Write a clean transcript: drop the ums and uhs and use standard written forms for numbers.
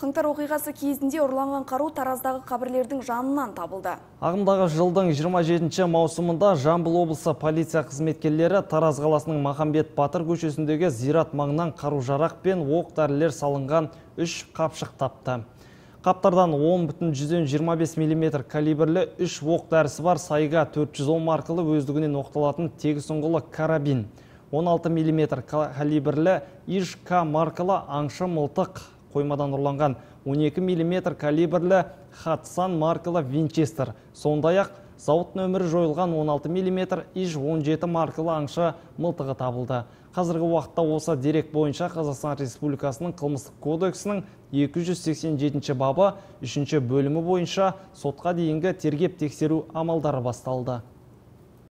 Қаңтар оқиғасы кезінде ұрланған қару Тараздағы қабірлердің жанынан табылды. Ағымдағы жылдың 27 маусымында Жамбыл облысы полиция қызметкерлері Тараз қаласының Махамбет Батыр көшесіндегі зират маңынан қару-жарақ пен оқ-дәрілер салынған 3 қапшық тапты. Қаптардан 10,25 мм калибрлі 3 оқ-дәрісі бар сайға 410 маркалы өздігінен оқталатын тегіс ұңғылы карабин, 16 мм калибрлі ИЖК маркалы аңшы мылтық, қоймадан ұрланған 12 мм калибрлі Хатсан маркалы Винчестер, сондай-ақ зауыт нөмірі жойылған 16 мм ИЖ-17 маркалы аңшы мылтығы табылды. Қазіргі уақытта осы дерек бойынша Қазақстан Республикасының қылмыстық кодексінің 287 бабы 3 бөлімі бойынша сотқа дейінгі тергеп тексеру амалдары басталды.